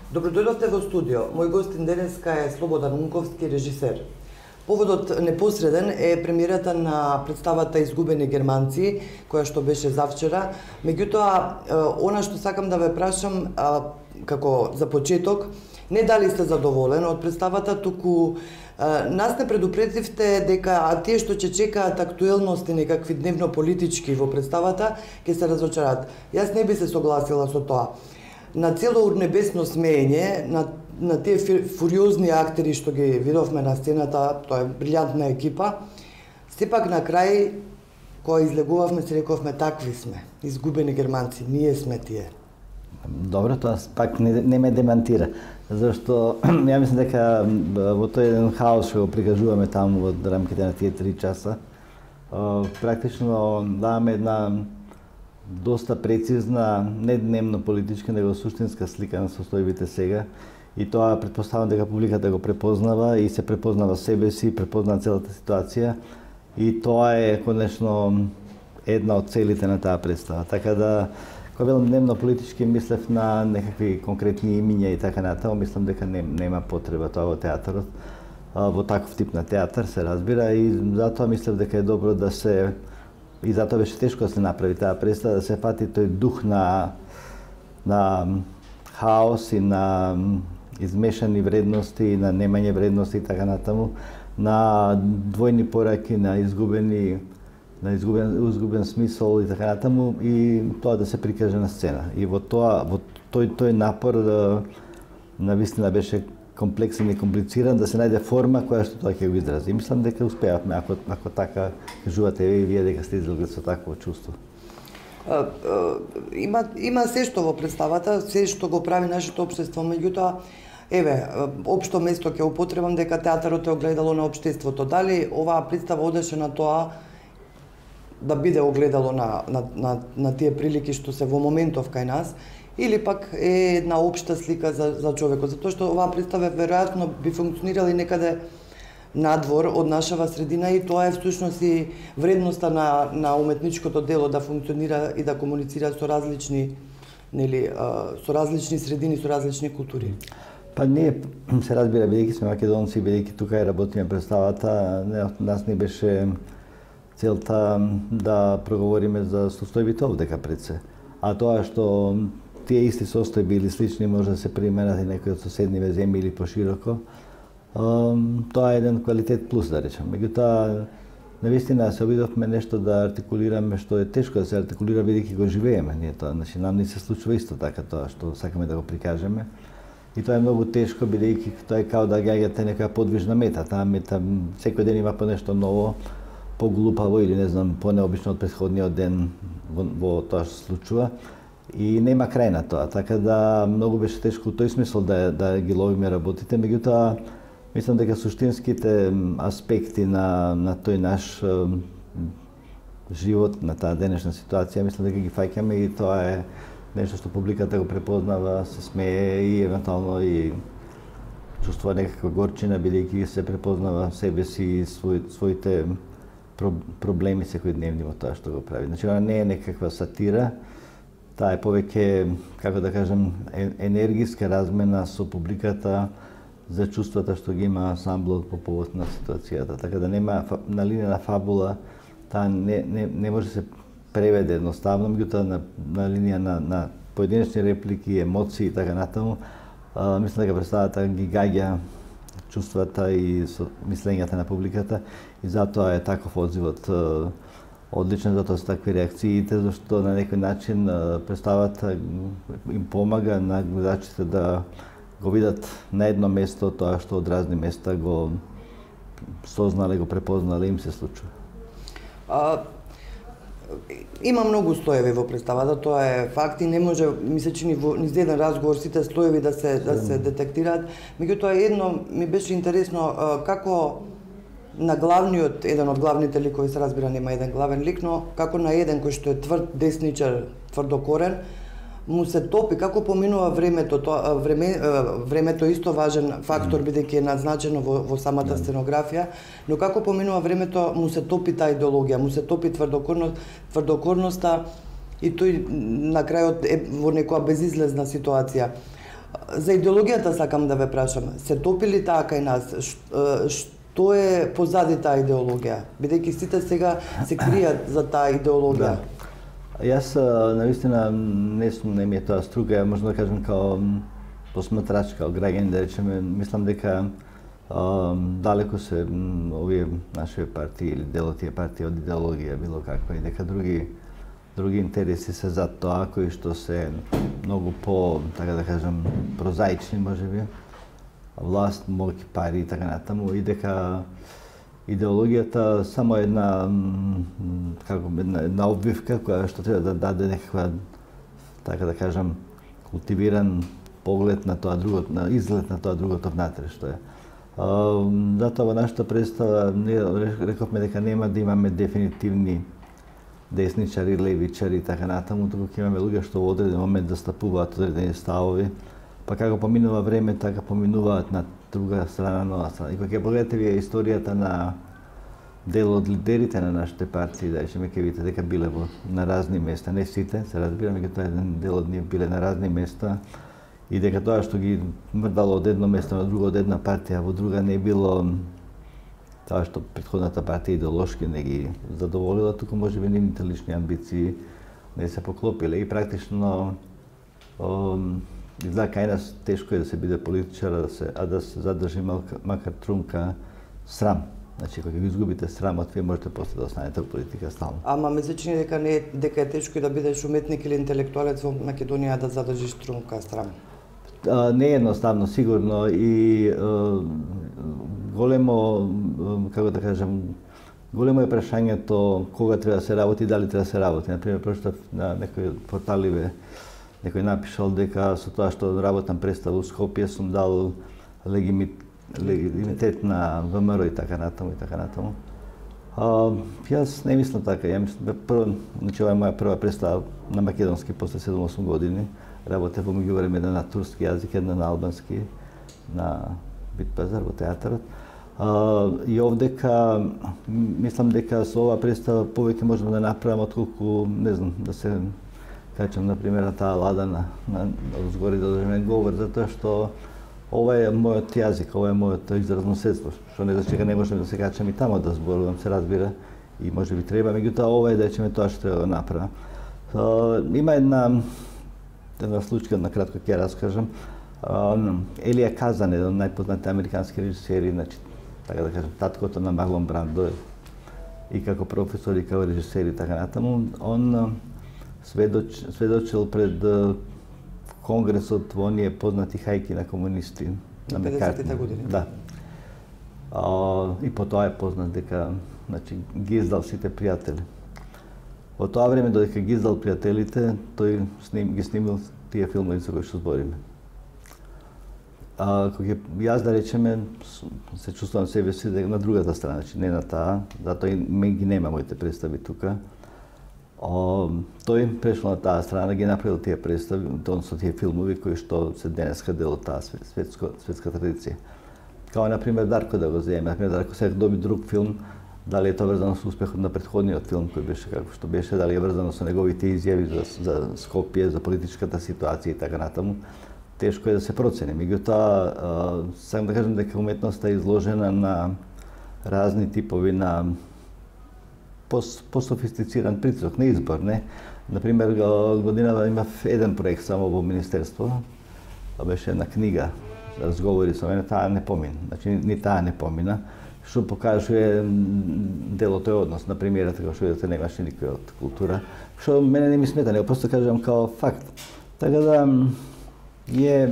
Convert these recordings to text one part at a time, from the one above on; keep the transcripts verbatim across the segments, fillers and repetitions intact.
Добродојдовте во студио. Мој гостин денеска е Слободан Унковски, режисер. Поводот непосреден е премиерата на представата Изгубени германци, која што беше завчера. Меѓутоа, она што сакам да ве прашам, како за почеток, не дали сте задоволен од представата, туку нас не предупредивте дека тие што ќе чекаат актуелности некакви дневно-политички во представата, ќе се разочараат. Јас не би се согласила со тоа. На цело урнебесно смеење, на, на тие фуриозни актери што ги видовме на сцената, тоа е брилјантна екипа, сепак на крај, кога излегувавме, се рековме такви сме, изгубени германци, ние сме тие. Добро, тоа пак не, не ме демантира, зашто ја мислам дека во тој еден хаос што го прикажуваме таму во рамките на тие три часа, практично даваме една доста прецизна, не дневно политичка, него суштинска слика на состојбите сега. И тоа претпоставам дека публиката го препознава и се препознава себе си, препознава целата ситуација. И тоа е конечно една од целите на таа представа. Така да, кога велам дневно политички, мислев на некакви конкретни имиња и така натаму, мислам дека не, нема потреба тоа во театарот, во таков тип на театар се разбира, и затоа мислев дека е добро да се, и затоа беше тешко да се направи таа представа, да се фати тој дух на на хаос и на измешани вредности, на немање вредности и така натаму, на двојни пораки, на изгубени на изгубен изгубен смисол и така натаму, и тоа да се прикаже на сцена. И во тоа, во тој тој напор навистина беше комплексен и комплициран, да се најде форма која што тоа ќе го изрази. И мислам дека успеавме, ако, ако така кажувате и вие дека сте излегли со такво чувство. А, а, има, има се што во представата, се што го прави нашето општество, меѓутоа, еве, општо место ќе употребам дека театарот е огледало на општеството. Дали оваа представа одеше на тоа да биде огледало на, на, на, на тие прилики што се во моментов кај нас, или пак е една општа слика за, за човекот, затоа што оваа представа веројатно би функционирала и некаде надвор од нашава средина, и тоа е всушност и вредноста на, на уметничкото дело да функционира и да комуницира со различни, нели, со различни средини, со различни култури. Па ние се разбира, бидејќи сме македонци, бидејќи тука и работиме представата, не, нас не беше целта да проговориме за состојбите овдека пред се. А тоа што тие исти состојби или слични може да се применат и некои од соседниве земји или пошироко, тоа е еден квалитет плюс, да речем. Меѓутоа, навистина се обидовме нешто да артикулираме што е тешко да се артикулира бидејќи го живееме. Ние тоа, значи нам не се случува исто така тоа што сакаме да го прикажеме. И тоа е многу тешко бидејќи тоа е као да гаѓате некоја подвижна мета. Таа мета секој ден има по нешто ново, поглупаво или не знам, понеобично од претходниот ден во, во тоа што се случува. И нема крај на тоа, така да многу беше тешко во тој смисол да, да ги ловиме работите, меѓутоа мислам дека суштинските аспекти на, на тој наш е, живот, на таа денешна ситуација, мислам дека ги фаќаме, и тоа е нешто што публиката го препознава, се смее и евентуално и чувствува некаква горчина, бидејќи се препознава себе си и свој, своите проблеми секојдневни во тоа што го прави. Значи, она не е некаква сатира, таа е повеќе, како да кажем, енергиска размена со публиката за чувствата што ги има ансамблот по повод на ситуацијата. Така да нема на линија на фабула, таа не, не, не може да се преведе едноставно, меѓутоа на, на линија на, на поединечни реплики, емоции и така натаму, а, мислам дека представата ги гаѓа чувствата и со мислењата на публиката, и затоа е таков одзивот одличен, затоа се такви реакциите, зашто на некој начин представата им помага на гледачите да го видат на едно место тоа што од разни места го сознале, го препознале, им се случува. А, има многу слоеви во представата, тоа е факт, и не може, ми се чини, во низ еден разговор сите слоеви да се да се детектираат. Меѓутоа едно ми беше интересно, како на главниот, еден од главните ликови, се разбира нема еден главен лик, но како на еден кој што е тврд десничар, тврдокорен, му се топи, како поминува времето, тоа време, времето е исто важен фактор бидејќи е назначено во, во самата сценографија, но како поминува времето му се топи таа идеологија, му се топи тврдокорност, тврдокорноста, и тој на крајот е во некоја безизлезна ситуација. За идеологијата сакам да ве прашам. Се топили таа кај нас? Што е позади таа идеологија? Бидејќи сите сега се кријат за таа идеологија. Да. Јас навистина не сум, не ми е тоа струка, можам да кажам као посматрач, као граѓани, да речеме, мислам дека а, далеко се овие наши партии или дел од тие партии од идеологија било каква и дека други други интереси се за тоа кои што се многу по, така да кажам, прозаични можеби, власт, моќ, пари и така натаму, и дека идеологијата само една како една, една обвивка која што треба да даде некаква, така да кажам, култивиран поглед на тоа другото, на изглед на тоа другото внатре што е. А, затоа во нашата представа не рековме дека нема да имаме дефинитивни десничари, левичари и така натаму, туку ќе имаме луѓе што во одреден момент застапуваат одредени ставови, па како поминува време, така поминуваат на друга страна, нова страна. И кога ќе погледате вие историјата на дел од лидерите на нашите партии, да речеме, ќе видите дека биле во на разни места, не сите, се разбираме дека тоа еден дел од нив биле на разни места и дека тоа што ги мрдало од едно место на друго, од една партија во друга, не било тоа што претходната партија идеолошки не ги задоволила, туку можеби нивните лични амбиции не се поклопиле и практично изгледа кај нас тешко е да се биде политичар, да се, а да се задржи макар трунка срам. Значи, кога ги изгубите срамот, вие можете после да останете во политика стално. Ама ме се чини дека не дека е тешко и да бидеш уметник или интелектуалец во Македонија да задржиш трунка срам. А, не е едноставно, сигурно, и а, големо, како да кажам, големо е прашањето кога треба да се работи и дали треба да се работи. Например, прочитав на некои порталиве, некој напишал дека со тоа што работам представа во Скопје сум дал легимит, легитимитет на ВМРО и така натаму и така натаму. А, јас не мислам така, ја мислам, прво, значи ова е моја прва представа на македонски после седум-осум години. Работев во меѓувреме една на турски јазик, една на албански, на Битпазар во театарот. А, и овдека мислам дека со ова представа повеќе можам да направам отколку, не знам, да се качам на пример на таа лада на на згори да држам говор, затоа што ова е мојот јазик, ова е мојот изразно средство, што не значи дека не можам да се качам и тамо да зборувам, се разбира, и можеби треба, меѓутоа ова е да речеме тоа што треба да направам. Има една една случка, на кратко ќе раскажам. Елија Казан, еден од најпознатите американски режисери, значи, така да кажам, таткото на Марлон Брандо и како професор и како режисер и така натаму, он сведоч, сведочил пред конгресот во оние познати хајки на комунисти на педесетите години. Да. А, и по тоа е познат дека, значи, ги издал сите пријатели. Во тоа време, додека ги издал пријателите, тој сним, ги снимил тие филмови за кои што збориме. А, кога јас, да речеме, се чувствувам себе си на другата страна, значи не на таа, затоа и мен ги нема моите представи тука. О, тој прешол на таа страна, ги направил тие представи, односно тие филмови кои што се денеска дел од таа светско, светска традиција. Као, например, Дарко да го земе, например, Дарко сега доби друг филм, дали е тоа врзано со успехот на претходниот филм кој беше како што беше, дали е врзано со неговите изјави за, за Скопје, за политичката ситуација и така натаму, тешко е да се процени. Меѓутоа, сакам да кажам дека уметноста е изложена на разни типови на пософистициран притисок, на избор, не? Например, годинава имав еден проект само во Министерство, беше една книга, разговори со мене, таа не помина, значи ни таа не помина, што покажува делот тој однос на премиерата, како што видите, немаше никој од култура, што мене не ми смета, него просто кажам као факт. Така да е...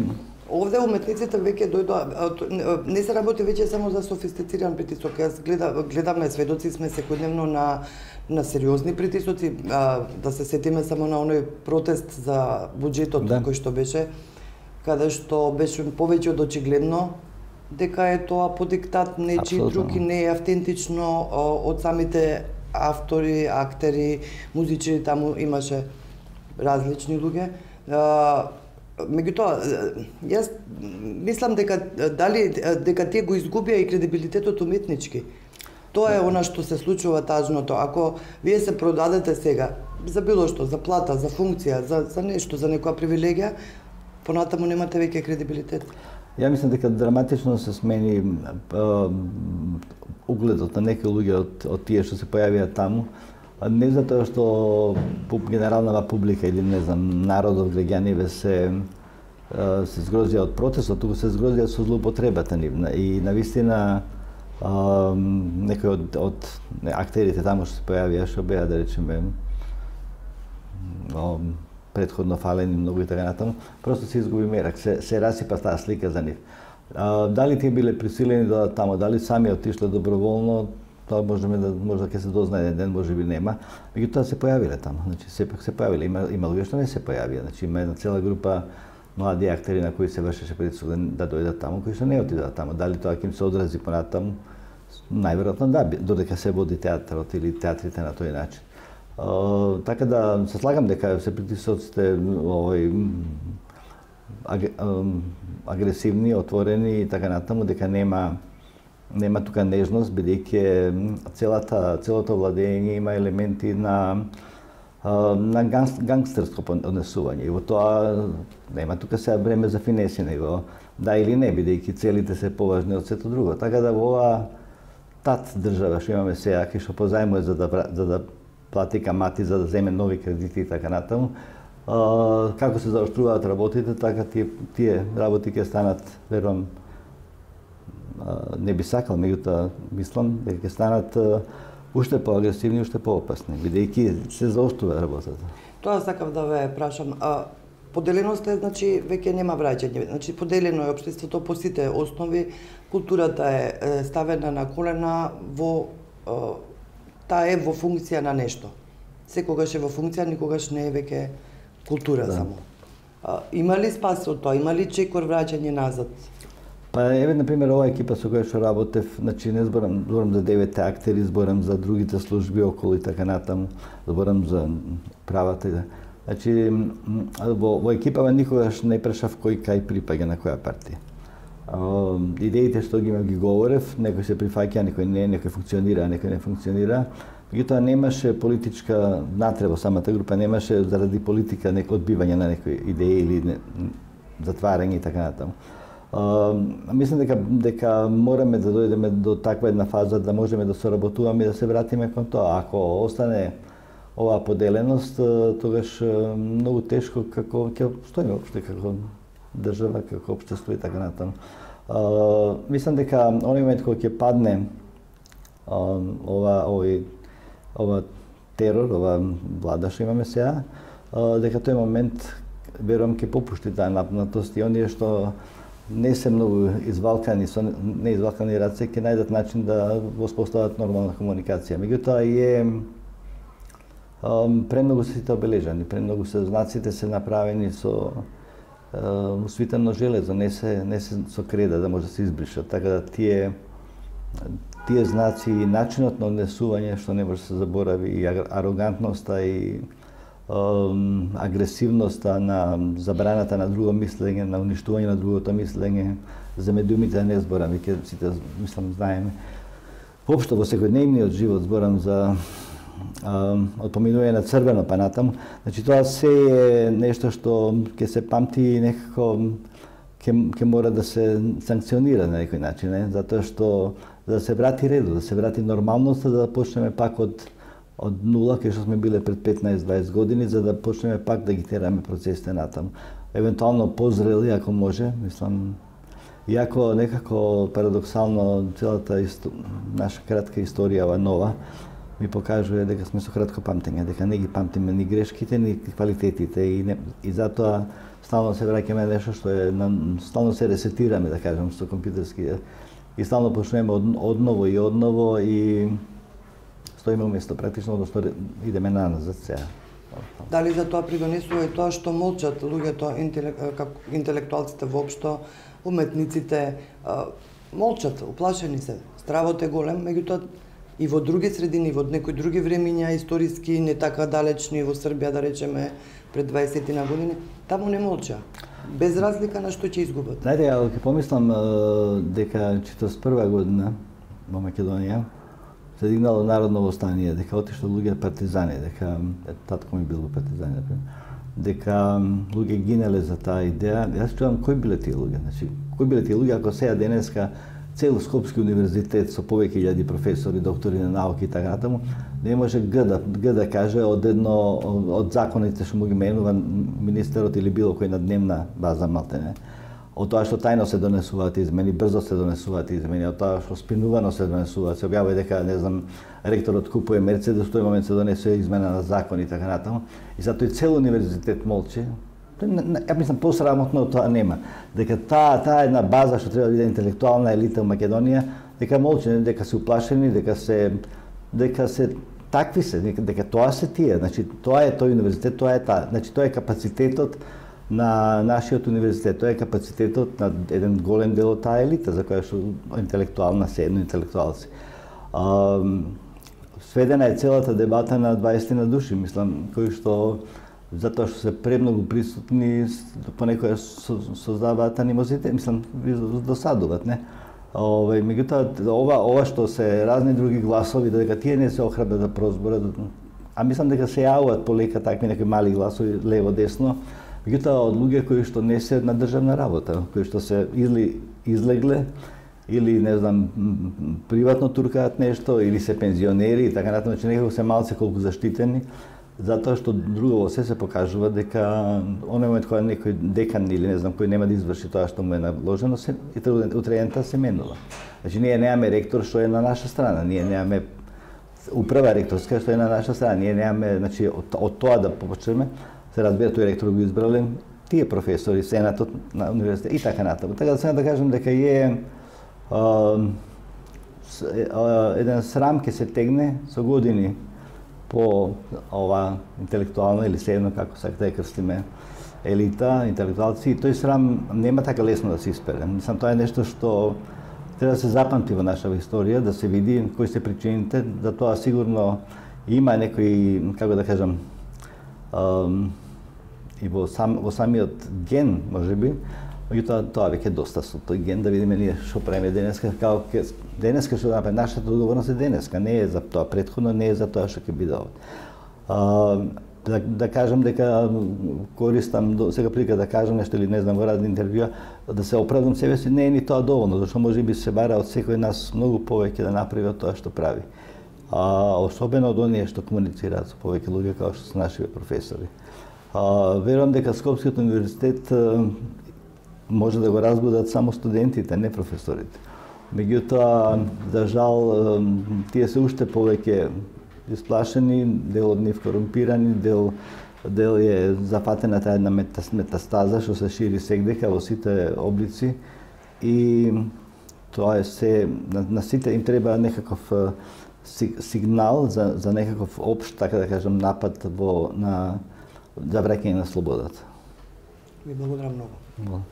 Овде уметниците веќе дојдоа, не се работи веќе само за софистициран притисок. Јас гледам, гледаме, сведоци сме секојдневно на на сериозни притисоци, а, да се сетиме само на оној протест за буџетот да. Кој што беше, каде што беше повеќе од очигледно дека е тоа по диктат нечи други, не е автентично од самите автори, актери, музичари, таму имаше различни луѓе. Меѓутоа, јас мислам дека дали дека тие го изгубија и кредибилитетот уметнички. Тоа е она што се случува тажното. Ако вие се продадете сега за било што, за плата, за функција, за за нешто, за некоја привилегија, понатаму немате веќе кредибилитет? Ја мислам дека драматично се смени а, угледот на некои луѓе од, од тие што се појавија таму. Не затоа што генералната публика или не знам народот, граѓаниве се се згрозија од протестот, туку се згрозија со злоупотребата нивна и навистина некои од, од актерите таму што се појавија, што беа да речеме предходно фалени многу и така натаму, просто се изгуби мерак, се, се расипа таа слика за нив. А, дали тие биле присилени да таму, дали сами отишле доброволно, тоа можеме да може ќе се дознае еден ден, можеби нема. Меѓутоа се појавиле таму, значи сепак се појавиле. Има има луѓе што не се појавија, значи има една цела група млади актери на кои се вршеше притисок да дојдат таму, кои што не отидоа таму. Дали тоа ќе им се одрази понатаму? Најверојатно да, додека се води театарот или театрите на тој начин. Uh, така да се слагам дека се притисоците овој аг, агресивни, отворени и така натаму, дека нема нема тука нежност, бидејќи целата целото владење има елементи на на ганг, гангстерско однесување. И во тоа нема тука сега време за финеси, него да или не, бидејќи целите се поважни од сето друго. Така да во оваа тат држава што имаме сега, кај што позајмува за да за да плати камати за да земе нови кредити и така натаму. А, како се заоштруваат работите, така тие, тие работи ќе станат, верувам, не би сакал, меѓутоа мислам дека ќе станат а, уште поагресивни, уште поопасни, бидејќи се заоштрува работата. Тоа сакав да ве прашам. А, поделеноста е, значи, веќе нема враќање. Значи, поделено е општеството по сите основи, културата е ставена на колена во таа е во функција на нешто. Секогаш е во функција, никогаш не е веќе култура да. Само. А, има ли спас од тоа? Има ли чекор враќање назад? Па еве на пример оваа екипа со која што работев, значи не зборам, зборам за деветте актери, зборам за другите служби околу и така натаму, зборам за правата и да. Значи во, во екипава никогаш не прашав кој кај припаѓа на која партија. Uh, идеите што ги ги говорев, некој се прифаќа, некој не, некој функционира, некој не функционира. Меѓутоа немаше политичка натреба во самата група, немаше заради политика некој одбивање на некои идеи или не, затварање и така натаму. Uh, мислам дека дека мораме да дојдеме до таква една фаза да можеме да соработуваме и да се вратиме кон тоа. Ако остане оваа поделеност, тогаш многу тешко како ќе стоиме опште како држава, како општество и така натаму. Uh, мислам дека оној момент кога ќе падне uh, ова овој ова терор, ова влада што имаме сега, uh, дека тој момент верувам ќе попушти таа напнатост и оние што не се многу извалкани, со не извалкани раце, ќе најдат начин да воспостават нормална комуникација. Меѓутоа и е um, премногу се сите обележани, премногу се знаците се направени со усвитено железо, не се не се со креда да може да се избришат, така да тие тие знаци и начинот на однесување што не може да се заборави, и арогантноста и um, агресивноста на забраната на друго мислење, на уништување на другото мислење, за медиумите не зборам, веќе сите мислам знаеме. Воопшто во секојдневниот живот зборам за од поминување на црвено па натаму. Значи тоа се е нешто што ќе се памти и некако ќе ќе мора да се санкционира на некој начин, не? Затоа што за да се врати редот, да се врати нормалноста, да почнеме пак од од нула, кај што сме биле пред петнаесет-дваесет години, за да почнеме пак да ги тераме процесите натаму. Евентуално позрели ако може, мислам, иако некако парадоксално целата исто... наша кратка историја ова нова ми покажува дека сме со кратко памтење, дека не ги памтиме ни грешките, ни квалитетите и, не, и затоа стално се враќаме нешто што е, стално се ресетираме, да кажам, со компјутерски и стално почнеме од, одново и одново и стоиме уместо практично, односно идеме назад сега. Дали за тоа придонесува и тоа што молчат луѓето, интелек, интелектуалците воопшто, уметниците, молчат, уплашени се. Стравот е голем, меѓутоа и во други средини, во некои други времиња, историски, не така далечни, во Србија, да речеме, пред дваесет на години, таму не молча. Без разлика на што ќе изгубат. Знаете, ја ќе помислам дека четиридесет и прва година во Македонија се дигнало народно востание, дека отишло луѓе партизани, дека татко ми бил во партизани, например. дека луѓе гинеле за таа идеја. Јас чувам кои биле тие луѓе, значи кои биле тие луѓе ако сега денеска цел Скопски универзитет со повеќе илјади професори, доктори на науки и така натаму, не може г да, г да каже од едно од законите што му ги менува министерот или било кој на дневна база малтене. Од тоа што тајно се донесуваат измени, брзо се донесуваат измени, од тоа што спинувано се донесуваат, се објавува дека, не знам, ректорот купува Мерцедес, тој момент се донесува измена на закон и така натаму. И затоа и цел универзитет молчи. Ја мислам, посрамотно од тоа нема. Дека таа таа една база што треба да биде интелектуална елита во Македонија, дека молчи, дека се уплашени, дека се дека се такви се, дека тоа се тие, значи тоа е тој универзитет, тоа е таа, значи тоа е капацитетот на нашиот универзитет, тоа е капацитетот на еден голем дел од таа елита за која што интелектуална се едно интелектуалци. А, сведена е целата дебата на дваесет на души, мислам, кои што затоа што се премногу присутни, понекогаш создаваат анимозитет, мислам, досадуваат, не? Овај, меѓутоа, ова, ова што се разни други гласови, дека тие не се охрабрат да прозборат, а мислам дека се јавуваат полека такви некои мали гласови лево-десно, меѓутоа од луѓе кои што не се на државна работа, кои што се или излегле, или, не знам, приватно туркаат нешто, или се пензионери и така натаму, че некако се малце колку заштитени, затоа што друго се се покажува дека оној момент кога некој декан или не знам кој нема да изврши тоа што му е наложено, се и утреента се менува. Значи ние немаме ректор што е на наша страна, ние немаме управа ректорска што е на наша страна, ние немаме, значи од, од тоа да почнеме, се разбира тој ректор го избрале тие професори, сенатот на универзитет и така натаму. Така да сега да кажем дека е а, еден срам ќе се тегне со години по ова интелектуална или седно како сакате да крстиме елита, интелектуалци, и тој срам нема така лесно да се испере. Мислам, тоа е нешто што треба да се запамти во нашава историја, да се види кои се причините, за тоа сигурно има некои, како да кажам, ам, и во, сам, во самиот ген, можеби, меѓутоа тоа веќе доста со тој ген да видиме ние што правиме денеска, како ке, денеска што да направиме, нашата одговорност е денеска, не е за тоа претходно, не е за тоа што ќе биде овде. Да, да кажам дека користам сега прилика да кажам нешто или не знам во разни интервјуа, да се оправдам себе си, не е ни тоа доволно, зашто можеби се бара од секој нас многу повеќе да направи од тоа што прави. А особено од оние што комуницираат со повеќе луѓе како што се нашиве професори. А, верувам дека Скопскиот универзитет може да го разбудат само студентите, не професорите. Меѓутоа, за жал, тие се уште повеќе исплашени, дел од нив корумпирани, дел, дел е зафатена таа една метастаза што се шири сегдека во сите облици и тоа е се, на, на сите им треба некаков сигнал за, за некаков општ, така да кажам, напад во, на, за враќање на слободата. Ви благодарам многу.